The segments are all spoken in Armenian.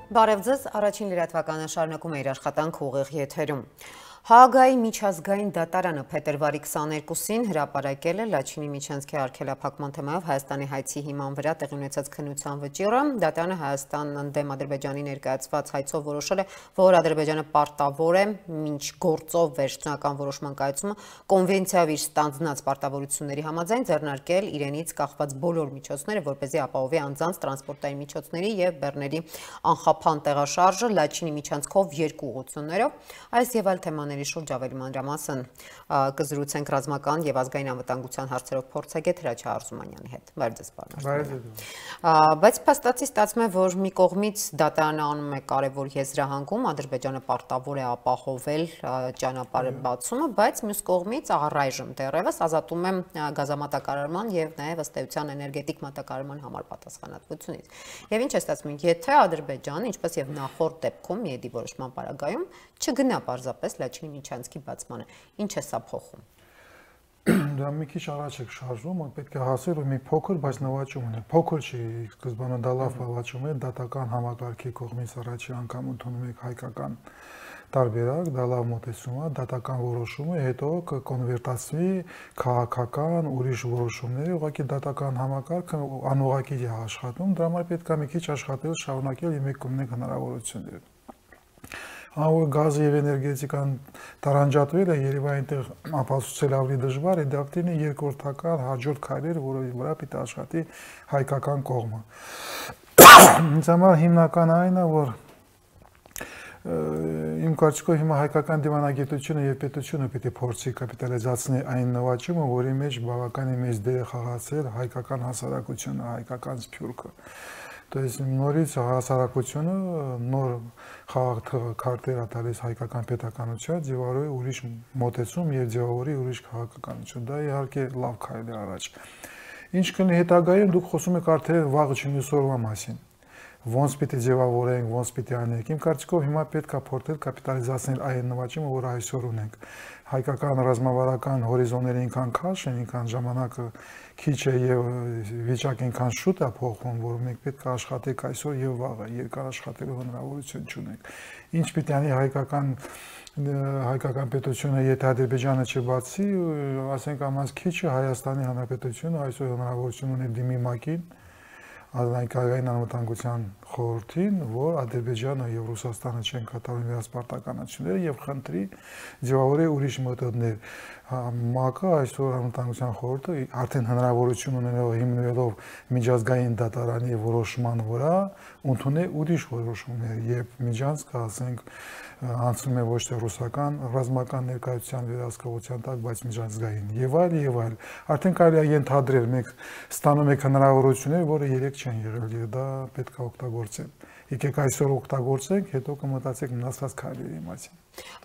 Բարև ձեզ, առաջին լրատվականը շարունակում է իր աշխատանքը ուղիղ եթերում։ Հաագայի միջազգային դատարանը փետրվարի 22-ին հրապարակել է Լաչինի Միչանսկի արգելափակման թեմայով Հայաստանի հայցի հիման վրա տեղի ունեցած քննության վճիռը։ Դատարանը Հայաստան դեմ Ադրբեջանի ներկայացված հայցով որոշել է, որ Ադրբեջանը պարտավոր է մինչ գործով վերջնական որոշման կայացումը կոնվենցիայով իր ստանձնած պարտավորությունների համաձայն ձեռնարկել իրենից կախված բոլոր միջոցները, որպեսզի ապահովի անձանց տրանսպորտային միջոցների եւ բեռների անխափան տեղաշարժը Լաչինի Միչանսկով երկու ուղղություններով։ Այս եւ այլ թեմաների շուրջ ավելի մանրամասն կզրուցենք ռազմական եւ ազգային անվտանգության հարցերով փորձագետ Հրաչյա Արզումանյանի հետ։ Բարև ձեզ, պարոն։ Բայց փաստացի ստացվում է, որ մի կողմից դատարանը անում է կարևոր եզրահանգում, Ադրբեջանը պարտավոր է ապահովել ճանապարհի բացումը, բայց մյուս կողմից առայժմ դեռևս ազատում է գազամատակարարման եւ նաեւ ըստ էության էներգետիկ մատակարարման համար պատասխանատվությունից։ Եվ ինչ է ստացվում, եթե Ադրբեջանը, ինչպես եւ նախորդ դեպքում Միեդի որոշման պարագայում չգնա պարզապես Լաչինի Միչանսկի բացմանը, ինչ է սա փոխում։ Դա մի քիչ առաջ եք շարժում, պետք է հասել ու մի փոքր, բայց նվաճում ունի։ Փոքր չի, սկզբանե դա լավ նվաճում է, դատական համակարգի կողմից առաջի անգամ ընդունում եք հայկական տարբերակ, դա լավ մոտեցում է, դատական որոշումը, հետո կկոնվերտացվի քաղաքական ուրիշ որոշումների, ուղղակի դատական համակարգը անուղղակի է աշխատում, դրա համար պետք է մի քիչ աշխատել, շարունակել եւ մեկ կողմնեք հնարավորությունները։ Ահա գազը եւ էներգետիկան տարանջատվելը երևի այնտեղ ապացուցել ավելի դժվար է, դա պետք է երկրորդական հաջորդ քայլեր, որի վրա պետք է աշխատի հայկական կողմը։ Ինձ համար հիմնական այն է, որ իմ կարծիքով հիմա հայկական դիվանագիտությունը եւ պետությունը պետք է փորձի կապիտալիզացնել այն նվաճումը, որի մեջ բավականին մեծ դեր է խաղացել հայկական հասարակությունը, հայկական սփյուռքը։ То есть նորից հասարակությունը նոր քարտեր տալիս հայկական պետականության, ձևավորի ուրիշ մոտեցում եւ ձևավորի ուրիշ քաղաքականություն։ Դա իհարկե լավ քայլ է առաջ։ Ինչ կլինի հետագայում, դուք խոսում եք արդեն վաղ չնիսորվա մասին։ Ոնց պիտի ձևավորենք, ոնց պիտի անենք։ Իմ կարծիքով հիմա պետք է փորձել կապիտալիզացնել այն նվաճումը, որ այսօր ունենք։ Հայկական ռազմավարական հորիզոնները ինքան քաշ են, ինքան ժամանակը քիչ է եւ վիճակը ինքան շուտ է փոխվում, որ մենք պետք է աշխատենք այսօր եւ վաղը, երկար աշխատելու հնարավորություն չունենք։ Ինչ պիտի անի հայկական պետությունը, եթե Ադրբեջանը չբացի, ասենք ամաս քիչը Հայաստանի Հանրապետությունը այսօր հնարավորություն ունի դիմի ՄԱԿ-ին, Ազգային անվտանգության խորհրդին, որ Ադրբեջանը եւ Ռուսաստանը չեն կատարում իրենց պարտականությունները եւ խնդրի ձևավորի ուրիշ մեթոդներ։ ՄԱԿ-ը այսօր անվտանգության խորհուրդը արդեն հնարավորություն ունենալով հիմնվելով միջազգային դատարանի որոշման վրա ընդունել ուրիշ որոշումներ եւ միջանցքը, ասենք, անցնում է ոչ թե ռուսական ռազմական ներկայության վերահսկողության տակ, բայց միջազգային եւ այլ։ Արդեն կարելի է ենթադրել, մենք ստանում ենք հնարավորություններ, որը երեք չեն եղել եւ դա պետք է օգտագործել։ Եկեք այսօր օգտագործենք, հետո կմտածենք մնացած քայլերի մասին։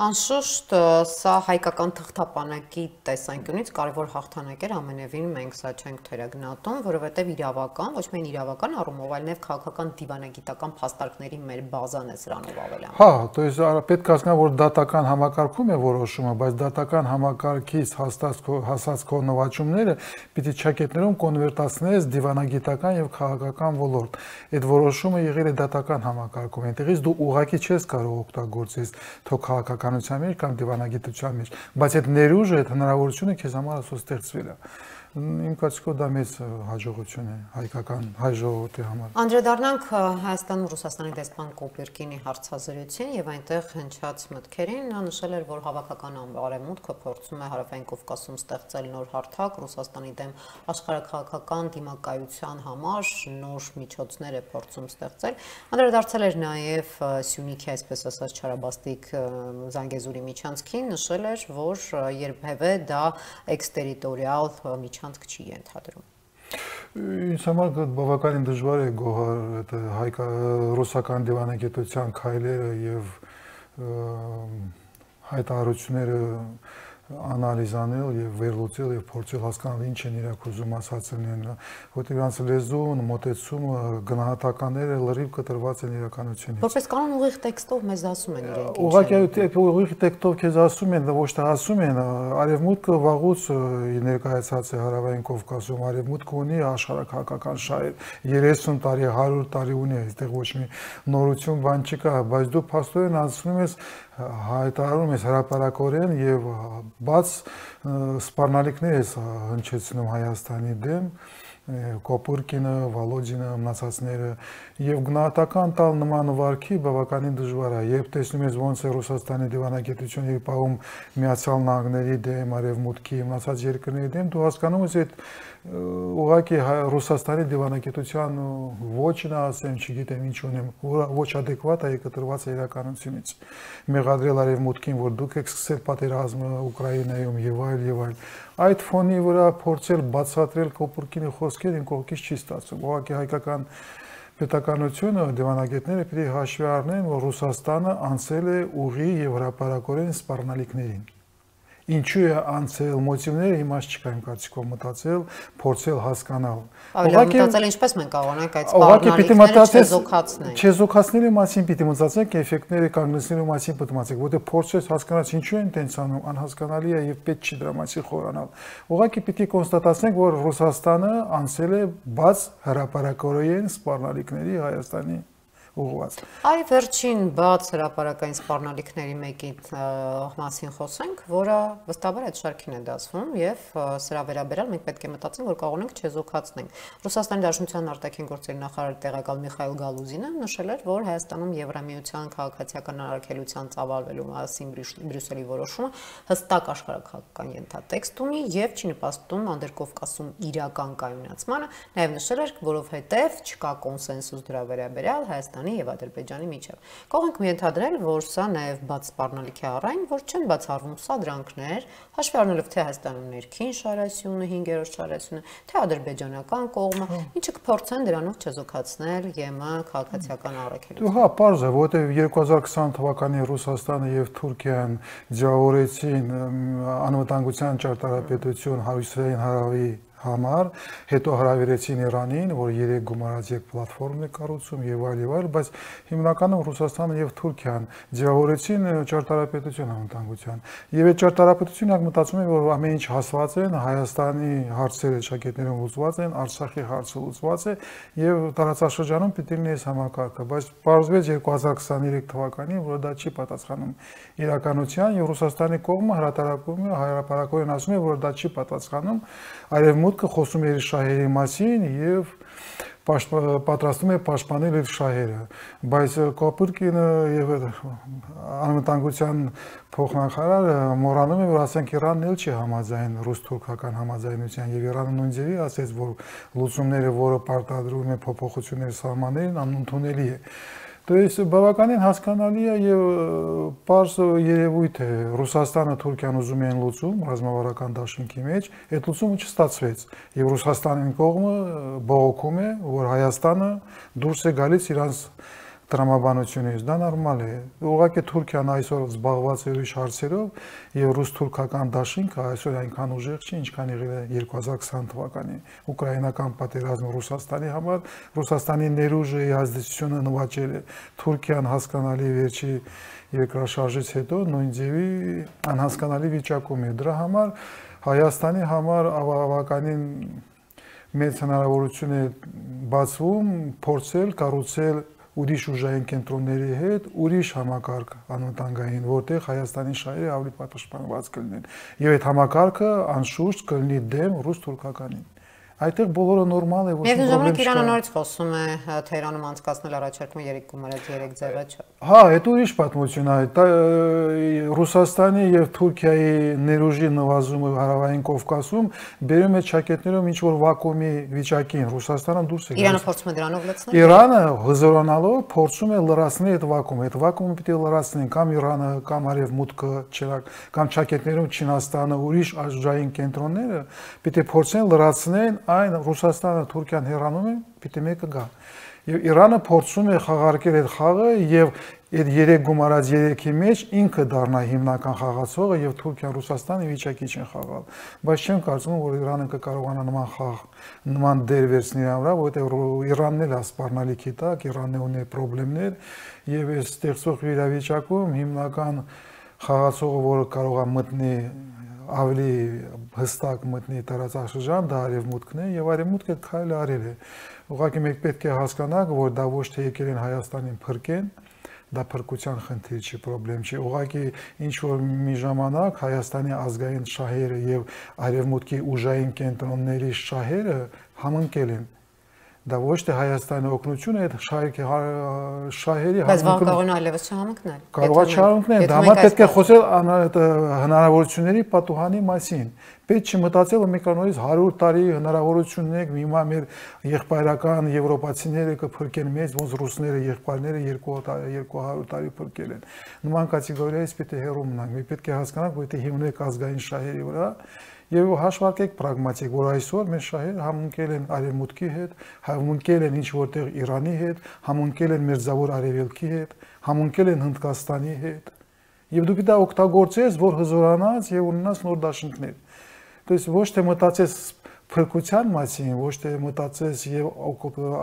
Անշուշտ սա հայկական թղթապանակի տեսանկյունից կարևոր հաղթանակ էր, ամենևին մենք սա չենք թերագնահատում, որովհետև իրավական, ոչ միայն իրավական առումով, այլ նաև քաղաքական դիվանագիտական փաստարկների մեր բազան է սրանով ավելանում։ Հա, то есть պետք է հասկանալ, որ դատական համակարգում է որոշումը, բայց դատական համակարգից հասած քո նվաճումները պիտի չակետներում կոնվերտացնես դիվանագիտական եւ քաղաքական ոլորտ։ Այդ որոշումը եղել է դատական համակարգում, այնտեղից դու ուղղակի չես կարող օգտագործես թո քաղաքականության մեջ կամ դիվանագիտության մեջ, բայց այդ ներուժը, այդ հնարավորությունը քեզ համար ասո ստեղծվել է։ Իմ կարծիքով դա մեծ հաջողություն է հայկական հայ ժողովրդի համար։ Անդրադառնանք Հայաստանում Ռուսաստանի դեսպան Կոպերկինի հարցազրույցին եւ այնտեղ հնչած մտքերին, նա նշել էր, որ հավաքական արևմուտքը փորձում է Հարավային Կովկասում ստեղծել նոր հարթակ Ռուսաստանի դեմ աշխարհաքաղաքական դիմակայության համար նոր միջոցներ է փորձում ստեղծել։ Անդրադարձել էր նաեւ Սյունիքի, այսպես ասած, չարաբաստիկ Զանգեզուրի Միչանսկին, նշել էր, որ երբևէ դա էքստերիտորիալ միջանցք չի ենթադրում։ Ինձ համար բավականին դժվար է գոհար ռուսական դիվանագիտության քայլերը եւ հայտարարությունները անալիզանել եւ վերլուծել եւ փորձել հասկանալ ինչ են իրենք ուզում ասացնեն, որտեղ իրանց լեզուն, մոտեցումը, գնահատականները լրիվ կտրված են իրականությունից։ Որպես կանոն ուղիղ տեքստով մեզ ասում են իրենք։ Ուղղակի ուղիղ տեքստով քեզ ասում են, ոչ թե ասում են, արևմուտքը վաղուց ներկայացած է Հարավային Կովկասում, արևմուտքը ունի աշխարհակահաղական շահեր, 30 տարի, 100 տարի ունի, այստեղ ոչ մի նորություն բան չկա, բայց դու փաստորեն անցնում ես հայտարարում ես հրապարակորեն եւ բաց սպառնալիքներ ես հնչեցնում Հայաստանի դեմ, Կոպուրկինը, Վոլոդինը, մնացածները եւ գնահատական տալ նման վարքի բավականին դժվար է, երբ տեսնում ես ոնց է Ռուսաստանի դիվանագիտությունը պահում Միացյալ Նահանգների դեմ, Արևմուտքի, մնացած երկրների դեմ, դու հասկանում ես այդ ուղղակի Ռուսաստանի դիվանագիտության ոչն ասեմ, չգիտեմ ինչ ունեմ, ոչ adekvat է կտրված իրականությունից։ Մեղադրել Արևմուտքին, որ դուք եք սկսել պատերազմը Ուկրաինայում եւ այլ։ Այդ ֆոնի վրա փորձել բացատրել Կոպուրկինի խոսքերը ինքն կողքից չի ստացվում։ Ուղղակի հայկական պետականությունը դիվանագետները պետք է հաշվի առնեն, որ Ռուսաստանը անցել է ուղի եւ հրապարակորեն սպառնալիքներին։ Ինչու է անցել մոտիվները իմաստ չկա իմ կարծիքով մտածել, փորձել հասկանալ։ Ուղղակի մտածել ինչպես մենք կարողանանք այդ սպառնալիքները չեզոքացնել։ Չեզոքացնելու մասին պիտի մտածենք, էֆեկտները կանգնեցնելու մասին պիտի մտածենք, որտեղ փորձես հասկանալ ինչու են տենց անում, անհասկանալի է եւ պետք չի դրա մասին խորանալ։ Ուղղակի պիտի կոնստատացնենք, որ Ռուսաստանը անցել է բաց հրապարակորեն սպառնալիքների Հայաստանի ուղղված։ Այ վերջին բաց հրապարակային սպառնալիքների մեկի մասին խոսենք, որը վստահաբար այդ շարքին է դասվում եւ սրա վերաբերյալ մենք պետք է մտածենք, որ կարողանանք չեզոքացնենք։ Ռուսաստանի Դաշնության արտաքին գործերի նախարար տեղակալ Միխայիլ Գալուզինը նշել էր, որ Հայաստանում Եվրամիության քաղաքացիական առաքելության ծավալվելու մասին Բրյուսելի որոշումը հստակ աշխարհակահաղական ենթատեքստ ունի եւ չի նպաստում Անդրկովկասում իրական կայունացմանը, նաեւ նշել էր, որովհետեւ չկա կոնսենսուս դրա վերաբերյալ Հայաստանի եւ Ադրբեջանի միջև։ Կարող ենք ենթադրել, որ սա նաեւ բաց սպառնալիքի առայն, որ չեն բացառվում սադրանքներ, հաշվի առնելով թե Հայաստանում ներքին շարասյունը, 5-րդ շարասյունը, թե ադրբեջանական կողմը, ինչը կփորձեն դրանով չեզոքացնել ԵՄ քաղաքացիական առաքելությունը։ Հա, պարզ է, որտեղ 2020 թվականին Ռուսաստանը եւ Թուրքիան ձևավորեցին անվտանգության ճարտարապետություն Հարավային հարավի համար, հետո հրավիրեցին Իրանին, որ 3 գումարած եկ պլատֆորմ է կառուցում եւ այլ, բայց հիմնականում Ռուսաստանը եւ Թուրքիան ձևավորեցին ճարտարապետություն անվտանգության։ Եվ այդ ճարտարապետությունը մտածում է, որ ամեն ինչ հասված են, Հայաստանի հարցերը շակետներում լուծված են, Արցախի հարցը լուծված է եւ տարածաշրջանում պիտի լինի այս համակարգը, բայց պարզվեց 2023 թվականին, որ դա չի պատասխանում իրականության եւ Ռուսաստանի կողմը հրատարակում է, հրապարակորեն ասում է, որ դա չի պատասխանում Արևմուտքը խոսում է իր շահերի մասին եւ պատրաստում է պաշտպանել իր շահերը, բայց Կոպուրկինը եւ անվտանգության փոխնախարարը մոռանում է, որ ասենք Իրանն էլ չի համաձայն ռուս-թուրքական համաձայնության եւ Իրանը նույն ձևի ասեց, որ լուծումները, որը պարտադրում է փոփոխությունների սահմաններին, անընդունելի է։ То есть բավականին հասկանալի է եւ պարզ երևույթ է Ռուսաստանը Թուրքիան ուզում են լուծում ռազմավարական դաշինքի մեջ, այդ լուծումը չստացվեց եւ Ռուսաստանի կողմը բողոքում է, որ Հայաստանը դուրս է գալիս իրանց տրամաբանությունից, դա նորմալ է։ Ուղղակի Թուրքիան այսօր զբաղված է ուրիշ հարցերով եւ ռուս-թուրքական դաշինքը այսօր այնքան ուժեղ չի, ինչքան եղել է 2020 թվականին։ Ուկրաինական պատերազմը Ռուսաստանի համար, Ռուսաստանի ներուժի ազդեցությունը նվաճել է։ Թուրքիան հասկանալի վերջի երկրաշարժից հետո նույն ձևի անհասկանալի վիճակում է։ Դրա համար Հայաստանի համար բավականին մեծ հնարավորություն է բացվում փորձել կառուցել ուրիշ ուժային կենտրոնների հետ ուրիշ համակարգ անվտանգային, որտեղ Հայաստանի շահերը ավելի պաշտպանված կլինեն։ Եվ այդ համակարգը անշուշտ կլինի դեմ ռուս-թուրքականին։ Այդտեղ բոլորը նորմալ է, ոչ մի պրոբլեմ չկա։ Իրանը նորից խոսում է Թեհրանում անցկացնել առաջարկումը 3 գումարած 3 ձևը չէ։ Հա, այդ ուրիշ պատմություն է։ Ռուսաստանի եւ Թուրքիայի ներուժի նվազումը Հարավային Կովկասում բերում է ճակետներում ինչ որ վակուումի վիճակին։ Ռուսաստանը դուրս է գալիս։ Իրանը փորձում է դրանով լցնել։ Իրանը հզորանալով փորձում է լրացնել այդ վակուումը։ Այդ վակուումը պիտի լրացնեն կամ Իրանը, կամ Արևմուտքը, կամ ճակետներում Չինաստանը, ուրիշ ազգային կենտրոնները պիտի փորձեն լրացնել այն Ռուսաստանը Թուրքիան հեռանում են, պիտի մեկը գա։ Եվ Իրանը փորձում է խաղարկել այդ խաղը եւ այդ 3 գումարած 3-ի մեջ ինքը դառնա հիմնական խաղացողը եւ Թուրքիան Ռուսաստանը վիճակի չեն խաղալ։ Բայց չեմ կարծում, որ Իրանը կկարողանա նման խաղ, նման դեր վերցնել իր վրա, որովհետեւ Իրանն էլ ասպառնալիքի տակ, Իրանն ունի խնդիրներ եւ այս ստեղծող իրավիճակում հիմնական խաղացողը, որը կարող է մտնի ավելի հստակ մտնի տարածաշրջան, դա արևմուտքն է եւ արևմուտքը քայլ արել է։ Ուղղակի մենք պետք է հասկանանք, որ դա ոչ թե եկել են Հայաստանին փրկեն, դա փրկության խնդիր չի, խնդրեմ չի։ Ուղղակի ինչ որ մի ժամանակ Հայաստանի ազգային շահերը եւ արևմուտքի ուժային կենտրոնների շահերը համընկել են։ Դա ոչ թե Հայաստանի օգնությունը այդ շահերի բայց բան կարող է այլևս չհամընկնել։ Կարող է չհամընկնել, դա համար պետք է խոսել հնարավորությունների պատուհանի մասին։ Պետք չի մտածել, որ մենք նորից 100 տարի հնարավորություն ունենք, հիմա մեր եղբայրական եվրոպացիները կփրկեն մեզ, ոնց ռուսները եղբայրները 200 տարի փրկել են։ Նման կատեգորիայից պետք է հեռու մնանք։ Մենք պետք է հասկանանք, որ եթե հիմնենք ազգային շահերի վրա եւ հաշվարկեք պրագմատիկ, որ այսօր մեր շահերը համընկել են արևմուտքի հետ, համընկել են ինչ որտեղ Իրանի հետ, համընկել են Մերձավոր Արևելքի հետ, համընկել են Հնդկաստանի հետ։ Եվ դու պետք է օգտագործես, որ հզորանաս եւ ունենաս նոր դաշինքներ։ То есть ոչ թե մտածես փրկության մասին, ոչ թե մտածես եւ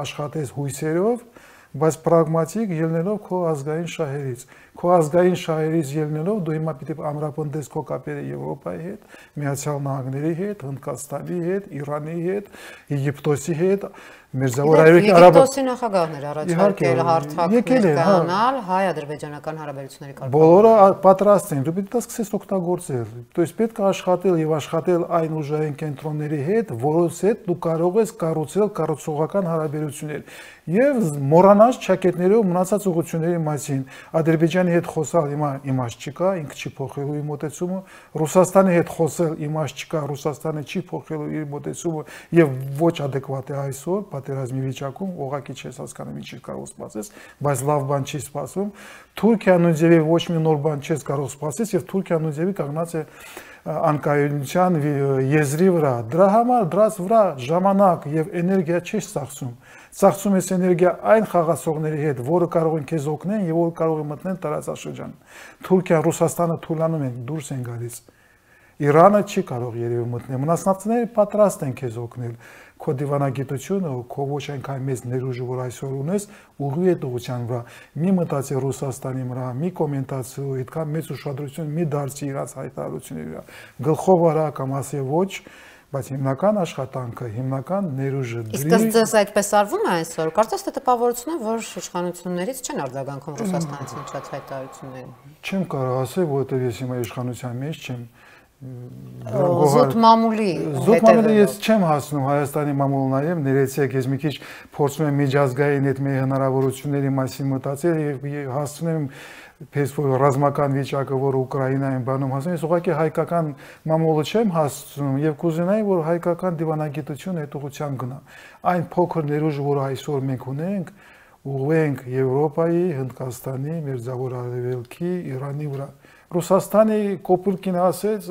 աշխատես հույսերով, բայց պրագմատիկ ելնելով քո ազգային շահերից։ Քո ազգային շահերից ելնելով դու հիմա պիտի ամրապնդես քո կապերը Եվրոպայի հետ, Միացյալ Նահանգների հետ, Հնդկաստանի հետ, Իրանի հետ, Եգիպտոսի հետ, Մերձավոր Արևելքի Եգիպտոսի նախագահներ առաջարկել հարթակներ կանալ հայ-ադրբեջանական հարաբերությունների կարգավորման։ Բոլորը պատրաստ են, դու պետք է սկսես օգտագործել։ То есть պետք է աշխատել եւ աշխատել այն ուժային կենտրոնների հետ, որոնց հետ դու կարող ես կառուցել կառուցողական հարաբերություններ եւ մոռանալ ճակետներով մնացած ուղղությունների մասին։ Ադրբեջանի հետ խոսալ հիմա իմաստ չկա, ինքը չի փոխելու իր մոտեցումը, Ռուսաստանի հետ խոսել իմաստ չկա, Ռուսաստանը չի փոխելու իր մոտեցումը եւ ոչ adekvat է այսօր պատերազմի վիճակում, ուղղակի չես հասկանում ինչ կարող սպասես, բայց լավ բան չի սպասվում։ Թուրքիան ու ձևի ոչ մի նոր բան չես կարող սպասես եւ Թուրքիան ու ձևի կանգնած է անկայունության եզրի վրա։ Դրա համար դրած վրա ժամանակ եւ էներգիա չես ծախսում։ Ծախսում ես էներգիա այն խաղացողների հետ, որը կարող են քեզ օգնեն եւ որ կարող են մտնել տարածաշրջան։ Թուրքիան, Ռուսաստանը թույլանում են, դուրս են գալիս։ Իրանը չի կարող երևի մտնել։ Մնացածները պատրաստ են քեզ օգնել։ Քո դիվանագիտությունը, քո ոչ այնքան մեծ ներուժը, որ այսօր ունես, ուղղի է ուղղության վրա։ Մի մտածի Ռուսաստանի վրա, մի կոմենտացիա, այդքան մեծ ուշադրություն մի դարձի իրաց հայտարարությունների վրա։ Գլխով արա կամ ասի ոչ, բայց հիմնական աշխատանքը, հիմնական ներուժը դրի։ Իսկ ձեզ այդպես արվում է այսօր։ Կարծես թե տպավորություն է, որ իշխանություններից չեն արձագանքում Ռուսաստանից հնչած հայտարարություններին։ Չեմ կարող ասել, որովհետև ես հիմա իշխանության մեջ չեմ։ Զուտ մամուլի հետևել։ Ես չեմ հասնում Հայաստանի մամուլը նայեմ, ներեցեք, ես մի քիչ փորձում եմ միջազգային այդ մեր հնարավորությունների մասին մտածել եւ հասնում եմ պես որ ռազմական վիճակը, որ Ուկրաինայում բանում հասնում, ես ուղղակի հայկական մամուլը չեմ հասնում եւ կուզենայի, որ հայկական դիվանագիտությունը այդ ուղղությամբ գնա։ Այն փոքր ներուժը, որ այսօր մենք ունենք, ուղղենք Եվրոպայի, Հնդկաստանի, Մերձավոր Արևելքի, Իրանի վրա։ Ռուսաստանի կոպուլկին ասեց,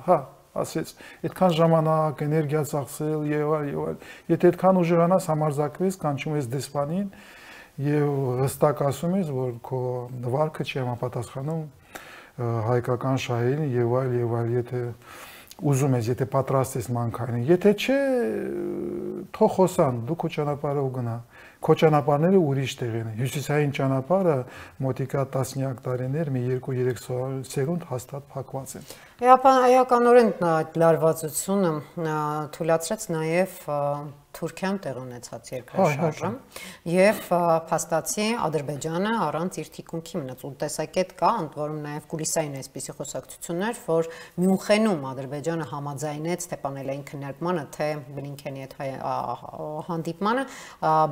հա, ասեց, այդքան ժամանակ, էներգիա ծախսել եւ այլ։ Եթե այդքան ուժերանաս համարձակվես, կանչում ես դեսպանին եւ հստակ ասում ես, որ քո վարկը չի համապատասխանում հայկական շահերին եւ այլ, եթե ուզում ես, եթե պատրաստ ես մանկային, եթե չէ, թող խոսան, դու քո ճանապարհով գնա։ Քո ճանապարհները ուրիշ տեղ են։ Հյուսիսային ճանապարհը մոտիկա տասնյակ տարիներ, մի 2-3 սերունդ հաստատ փակված են։ Էականորեն այդ լարվածությունը թույլատրեց նաև Թուրքիան տեղ ունեցած երկրաշարժը եւ փաստացի Ադրբեջանը առանց իր թիկունքի մնաց ու տեսակետ կա, ընդ որում նաեւ կուլիսային այսպիսի խոսակցություններ, որ Մյունխենում Ադրբեջանը համաձայնեց թե պանելային քննարկմանը, թե Բլինքենի հետ հանդիպմանը,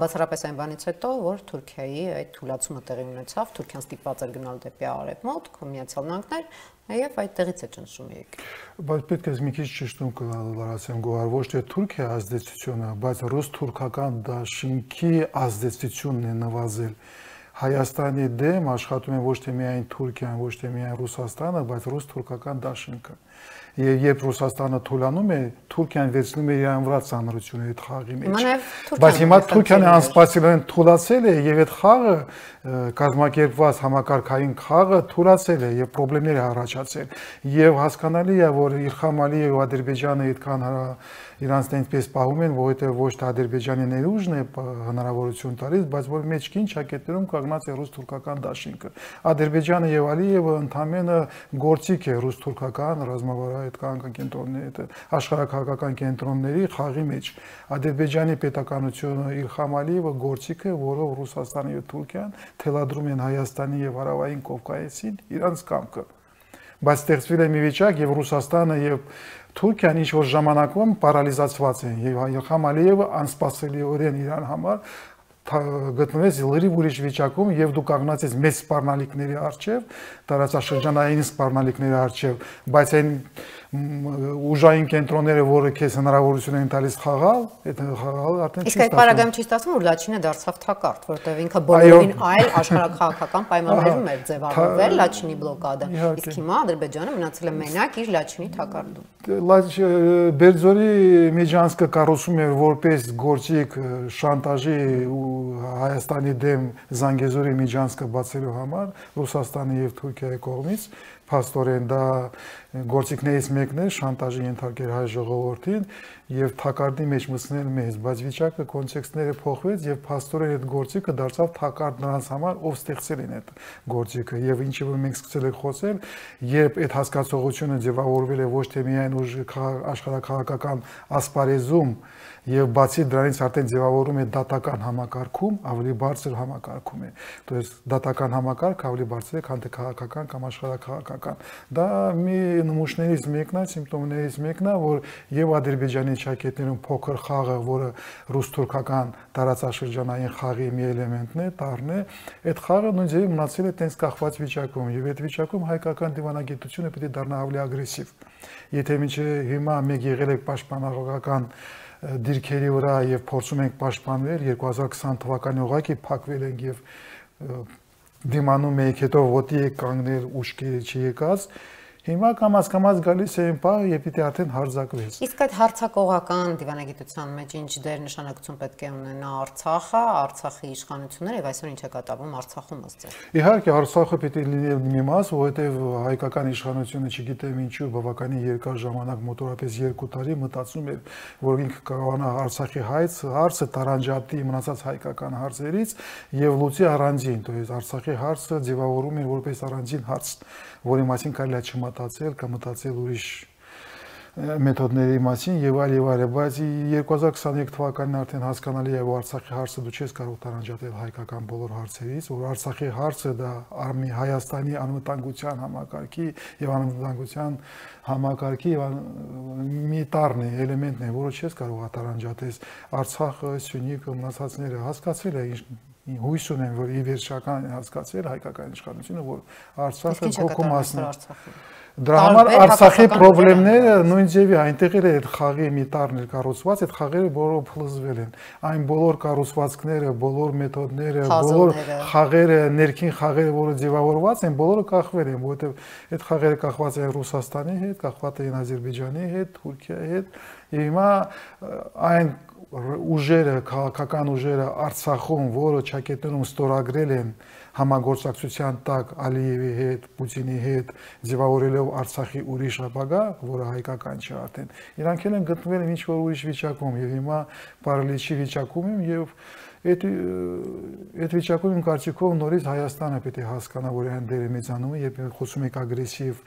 բացառապես այն բանից հետո, որ Թուրքիայի այդ թույլատումը տեղի ունեցավ, Թուրքիան ստիպված էր գնալ դեպի արևմուտք, Միացյալ Նահանգներ Եվ այդտեղից է ճնշում եկել։ Բայց պետք է մի քիչ ճշտում կլարացեմ գոհար, ոչ թե Թուրքիա ազդեցությունը, բայց ռուս-թուրքական դաշինքի ազդեցությունն է նվազել։ Հայաստանի դեմ աշխատում են ոչ թե միայն Թուրքիան, ոչ թե միայն Ռուսաստանը, բայց ռուս-թուրքական դաշինքը։ Եվ երբ Ռուսաստանը թուլանում է, Թուրքիան վերցնում է իրան վրա ծանրությունը այդ խաղի մեջ։ Բայց հիմա Թուրքիան անսպասելիորեն թուլացել է եւ այդ խաղը կազմակերպված համակարգային խաղը թուլացել է եւ խնդիրներ առաջացել։ Եվ հասկանալի է, որ Իլհամ Ալիևը եւ Ադրբեջանը այդքան իրանց այնպես պահում են, որովհետեւ ոչ թե Ադրբեջանի ներուժն է հնարավորություն տալիս, բայց որ մեջքին ճակետներում կանգնած է ռուս-թուրքական դաշինքը։ Ադրբեջանը եւ Ալիևը ընդամենը գործիք է ռուս-թուրքական ռազմավարական կենտրոնների, աշխարհակահաղական կենտրոնների խաղի մեջ։ Ադրբեջանի պետականությունը Իլհամ Ալիևը գործիք է, որով Ռուսաստանը եւ Թուրքիան թելադրում են Հայաստանի եւ Հարավային Կովկասին իրանց կամքը։ Բայց ստեղծվել է մի վիճակ եւ Ռուսաստանը եւ Թուրքիան ինչ որ ժամանակում պարալիզացված են եւ Իլհամ Ալիևը անսպասելիորեն իրան համար գտնվեց լրիվ ուրիշ վիճակում եւ դու կանգնած ես մեծ սպառնալիքների առջեւ, տարածաշրջանային սպառնալիքների առջեւ, բայց այն ուժային կենտրոնները, որը քեզ հնարավորություն են տալիս խաղալ, այդ խաղալը արդեն չի ստացվում։ Իսկ այդ պարագայում չի ստացվում, որ Լաչինը դարձավ թակարդ, որտեղ ինքը բոլորին այլ աշխարհակահաղական պայմաններում էր ձևավորվել Լաչինի բլոկադը։ Իսկ հիմա Ադրբեջանը մնացել է մենակ իր Լաչինի թակարդում։ Բերձորի Միջանցքը կառուցում էր որպես գործիք շանտաժի ու Հայաստանի դեմ Զանգեզուրի Միջանցքը բացելու համար Ռուսաստանի եւ Թուրքիայի կողմից փաստորեն դա գործիքներից մեկն է շանտաժի ենթարկել հայ ժողովրդին եւ թակարդի մեջ մտցնել մեզ, բայց վիճակը կոնտեքստները փոխվեց եւ փաստորեն այդ գործիքը դարձավ թակարդ նրանց համար, ով ստեղծել են այդ գործիքը եւ ինչը որ մենք սկսել ենք խոսել, երբ այդ հասկացողությունը ձևավորվել է ոչ թե միայն աշխարհակահաղական ասպարեզում եւ բացի դրանից արդեն ձևավորում է դատական համակարգում, ավելի բարձր համակարգում է։ То есть դատական համակարգ ավելի բարձր է, քան թե քաղաքական կամ աշխարհակահաղական։ Դա մի նմուշներից մեկն է, սիմպտոմներից մեկն է, որ եւ Ադրբեջանի ճակետներում փոքր խաղը, որը ռուս-թուրքական տարածաշրջանային խաղի մի էլեմենտն է, տարրն է, այդ խաղը նույն ձևի մնացել է տենց կախված վիճակում եւ այդ վիճակում հայկական դիվանագիտությունը պետք է դառնա ավելի ագրեսիվ։ Եթե մինչեւ հիմա մեկ եղել է պաշտպանողական դիրքերի վրա եւ փորձում ենք պաշտպանվել 2020 թվականի ուղղակի փակվել ենք եւ դիմանում եք հետո ոտի եք կանգնել ուշքերը չի եկած հիմա կամաց գալիս է այն պահը երբ պիտի արդեն հարձակվես իսկ այդ հարձակողական դիվանագիտության մեջ ինչ դեր նշանակություն պետք է ունենա Արցախը Արցախի իշխանությունները եւ այսօր ինչ է կատարվում Արցախում ըստ իհարկե Արցախը պիտի լինի մի մաս որովհետեւ հայկական իշխանությունը չգիտեմ ինչու բավականին երկար ժամանակ մոտորապես 2 տարի մտածում էր որ ինքը կարողանա Արցախի հարցը տարանջատի մնացած հայկական հարցերից եւ լուծի առանձին то есть Արցախի հարցը ձևավորում էր որպես առանձին հարց որի մասին կարելի է չմտածել կամ մտածել ուրիշ մեթոդների մասին եւ այլ, բայց 2023 թվականին արդեն հասկանալի է որ Արցախի հարցը դու չես կարող տարանջատել հայկական բոլոր հարցերից, որ Արցախի հարցը դա արմի Հայաստանի անվտանգության համակարգի եւ անվտանգության համակարգի մի տարրն է, էլեմենտն է, որը չես կարող տարանջատես Արցախը, Սյունիքը, մնացածները հասկացել է հույս ունեմ, որ ի վերջական հասկացել հայկական իշխանությունը, որ Արցախը փոքր մասն է։ Դրա համար Արցախի խնդիրները նույն ձևի այնտեղ էլ այդ խաղի մի տարր կառուցված, այդ խաղերը բոլորը փլուզվել են։ Այն բոլոր կառուցվածքները, բոլոր մեթոդները, բոլոր խաղերը, ներքին խաղերը, որը ձևավորված են, բոլորը կախվել են, որովհետև այդ խաղերը կախված են Ռուսաստանի հետ, կախված են Ադրբեջանի հետ, Թուրքիայի հետ, եւ հիմա այն ուժերը, քաղաքական ուժերը Արցախում, որը ճակետներում ստորագրել են համագործակցության տակ Ալիևի հետ, Պուտինի հետ, ձևավորելով Արցախի ուրիշ ապագա, որը հայկական չէ արդեն, իրանք են գտնվել ինչ որ ուրիշ վիճակում եւ հիմա պարալիչի վիճակում են եւ այդ վիճակում իմ կարծիքով նորից Հայաստանը պետք է հասկանա, որ այն դերը մեծանում է, երբ խոսում եք ագրեսիվ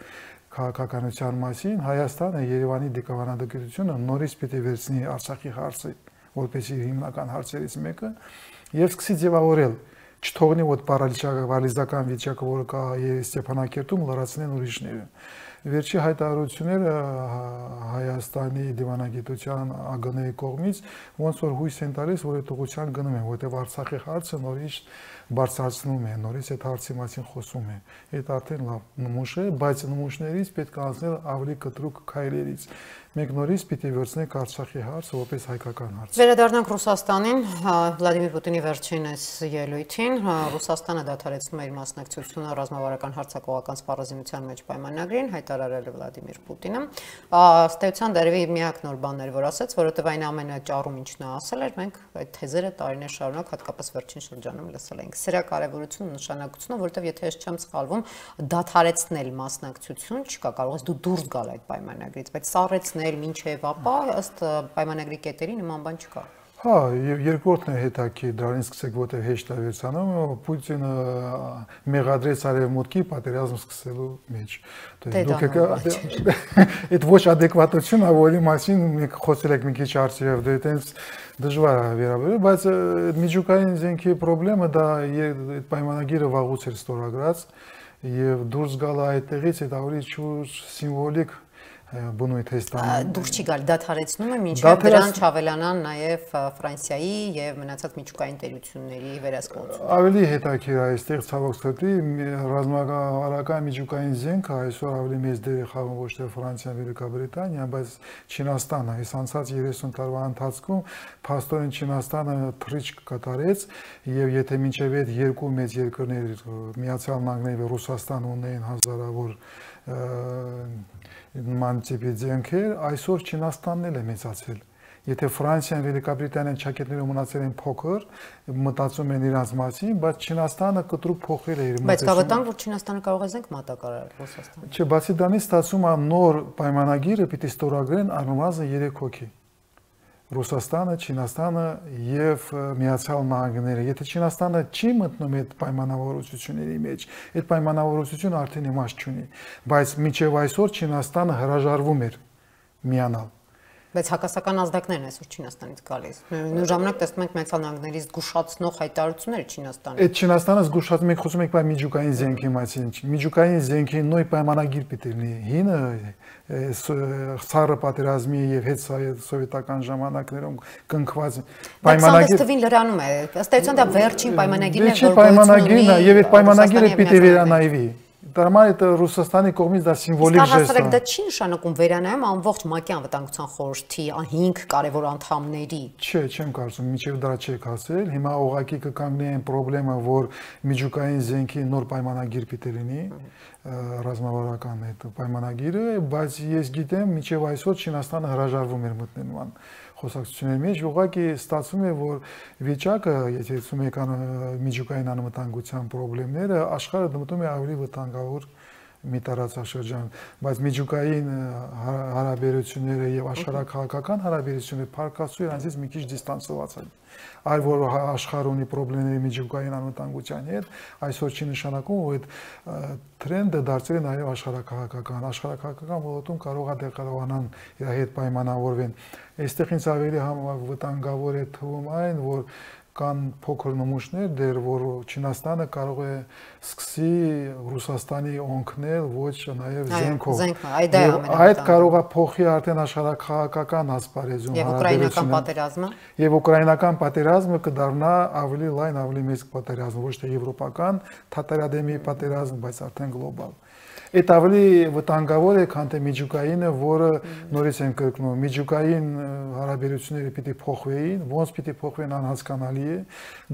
քաղաքականության մասին, Հայաստանը Երևանի դիվանագիտությունը նորից պետք է վերցնի Արցախի հարցը որպես իր հիմնական հարցերից մեկը եւ սկսի ձևավորել չթողնի որ պարալիզական վիճակը որը կա Ստեփանակերտում լրացնեն ուրիշները վերջի հայտարարությունները Հայաստանի դիվանագիտության ԱԳՆ-ի կողմից ոնց որ հույս են տալիս որ այդ ուղղության գնում են որտեղ Արցախի հարցը նորից բարձրացնում է նորից այդ հարցի մասին խոսում է այդ արդեն լավ նմուշ է բայց նմուշներից պետք է անցնել ավելի կտրուկ քայլերից մենք նորից պիտի վերցնենք Արցախի հարցը որպես հայկական հարց Վերադառնանք Ռուսաստանին Վլադիմիր Պուտինի վերջինս ելույթին օրերին Ռուսաստանը դադարեցնում է իր մասնակցությունը ռազմավարական հարձակողական սպառազինության մեջ պայմանագրին, հայտարարել է Վլադիմիր Պուտինը։ Ըստ էության դերևի միակ նոր բանն էր, որ ասաց, որովհետև այն ամենը ճառում ինչ նա ասել էր, մենք այդ թեզերը տարիներ շարունակ հատկապես վերջին շրջանում լսել ենք։ Սրա կարևորությունը, նշանակությունը, որովհետև եթե ես չեմ սխալվում, դադարեցնել մասնակցություն չկա, կարող ես դու դուրս գալ այդ պայմանագրից, բայց սառեցնել մինչև ապա ըստ պայմանագրի կետերի նման բան չկա։ Հա, եւ երկրորդն է հետաքրքիր, դրանից սկսեք, որտեղ հեշտ է վերցանում, Պուտինը մեղադրեց արևմուտքի պատերազմ սկսելու մեջ։ Դուք այդ ոչ ադեկվատություն, որի մասին մենք խոսել ենք մի քիչ արդյոք, դա այտենց դժվար է վերաբերել, բայց միջուկային զենքի խնդրումը դա այդ պայմանագիրը վաղուց էր ստորագրած եւ դուրս գալը այդտեղից այդ ավելի շուտ սիմվոլիկ բնույթ է ստանում։ Դուրս չի գալ, դադարեցնում է մինչև դրան չավելանան նաև Ֆրանսիայի եւ մնացած միջուկային տերությունների վերահսկողությունը։ Ավելի հետաքրքիր է այստեղ ցավոք սրտի ռազմավարական միջուկային զենքը այսօր ավելի մեծ դեր է խաղում ոչ թե Ֆրանսիան, Վելիկաբրիտանիան, բայց Չինաստանը։ Այս անցած 30 տարվա ընթացքում փաստորեն Չինաստանը թռիչք կատարեց եւ եթե մինչեւ այդ երկու մեծ երկրներ Միացյալ Նահանգներն եւ Ռուսաստանը ունեին հազարավոր նման տիպի զենքեր, այսօր Չինաստանն էլ է մեծացել։ Եթե Ֆրանսիան, Վելիկաբրիտանիան ճակետները մնացել են փոքր, մտածում են իրանց մասին, բայց Չինաստանը կտրուկ փոխել է իր մտածումը։ Բայց կավտան, որ Չինաստանը կարող է զենք մատակարարել Ռուսաստանին։ Չէ, բացի դրանից ստացվում է նոր պայմանագիրը պիտի ստորագրեն առնվազն 3 հոգի։ Ռուսաստանը, Չինաստանը եւ Միացյալ Նահանգները։ Եթե Չինաստանը չի մտնում այդ պայմանավորությունների մեջ, այդ պայմանավորությունը արդեն իմաստ չունի, բայց մինչեւ այսօր Չինաստանը հրաժարվում էր միանալ։ Բայց հակասական ազդակներն այսօր Չինաստանից գալիս։ Նույն ժամանակ տեսնում ենք Միացյալ Նահանգների զգուշացնող հայտարարությունները Չինաստանի։ Այդ Չինաստանը զգուշացնում ենք, խոսում ենք բայ միջուկային զենքի մասին։ Միջուկային զենքի նույն պայմանագիր պիտի լինի։ Հինը Սարը պատերազմի եւ հետ սովետական ժամանակներում կնքված պայմանագիր։ Բայց թվին լրանում է։ Ըստ էության դա վերջին պայմանագիրն է, որ պայմանագիրն է եւ այդ պայմանագիրը պիտի վերանայվի։ Դարման այդ Ռուսաստանի կողմից դա սիմվոլիկ ժեստ է։ Դա չի նշանակում վերանայում ամբողջ ՄԱԿ-ի անվտանգության խորհրդի 5 կարևոր անդամների։ Չէ, չեմ կարծում, մինչև դրա չեք հասել։ Հիմա ուղղակի կկանգնի այն խնդրեմը, որ միջուկային զենքի նոր պայմանագիր պիտի լինի, ռազմավարական այդ պայմանագիրը, բայց ես գիտեմ, մինչև այսօր Չինաստանը հրաժարվում էր մտնել նման խոսակցությունների մեջ, ուղղակի ստացվում է, որ վիճակը, եթե ցույց եկան միջուկային անվտանգության խնդիրները, աշխարհը դմտում է ավելի վտանգավոր մի տարածաշրջան, բայց միջուկային հարաբերությունները եւ աշխարհակահաղական հարաբերությունները փառկացու իրանցից մի քիչ դիստանսված են։ Այլ որ աշխարհը ունի խնդիրներ միջուկային անվտանգության հետ, այսօր չի նշանակում, որ այդ տրենդը դարձել է նաեւ աշխարհակահաղական ոլորտում կարող է դերակատարանան իր հետ պայմանավորվեն։ Այստեղ ինձ ավելի վտանգավոր է թվում այն, որ կան փոքր նմուշներ, դեր որ Չինաստանը կարող է սկսի Ռուսաստանի օգնել ոչ նաև զենքով։ Այդ կարող է փոխի արդեն աշխարհակահաղական ասպարեզում հարաբերությունը։ Եվ ուկրաինական պատերազմը կդառնա ավելի լայն, ավելի մեծ պատերազմ, ոչ թե եվրոպական թատերադեմի պատերազմ, բայց արդեն գլոբալ։ Այդ ավելի վտանգավոր է, քան թե միջուկայինը, որը նորից եմ կրկնում, միջուկային հարաբերությունները պիտի փոխվեին, ոնց պիտի փոխվեն անհասկանալի է։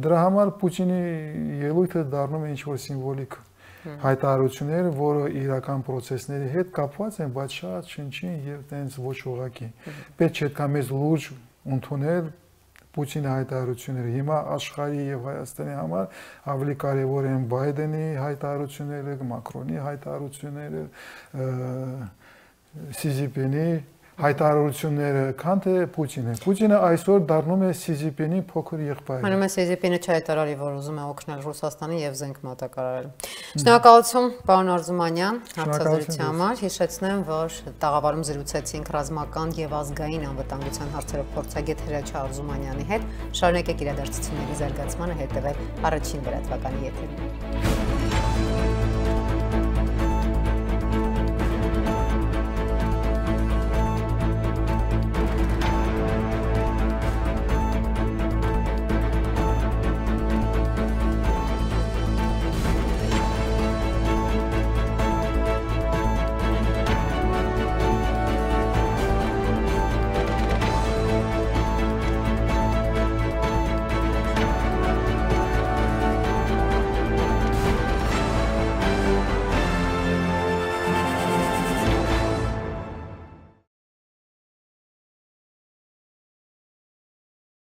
Դրա համար Պուտինի ելույթը դառնում է ինչ-որ սիմվոլիկ հայտարարություններ, որը իրական process-ների հետ կապված են, բայց շատ շնչին եւ տենց ոչ ուղղակի։ Պետք չէ այդքան մեծ լուրջ ընդունել Պուտինի հայտարարությունները։ Հիմա աշխարհի եւ Հայաստանի համար ավելի կարեւոր են Բայդենի հայտարարությունները, Մակրոնի հայտարարությունները, Սի Ցզինպինի հայտարարությունները, քան թե Պուտինը։ Պուտինը այսօր դառնում է Սի Ցզինպինի փոքր եղբայրը։ Մնում է Սի Ցզինպինը չհայտարարի, որ ուզում է օգնել Ռուսաստանին եւ զենք մատակարարել։ Շնորհակալություն, պարոն Արզումանյան, հարցազրույցի համար։ Հիշեցնեմ, որ տաղավարում զրուցեցինք ռազմական եւ ազգային անվտանգության հարցերով փորձագետ Հրաչյա Արզումանյանի հետ։ Շարունակեք իրադարձությունների զարգացմանը հետևել Առաջին լրատվականի եթերում։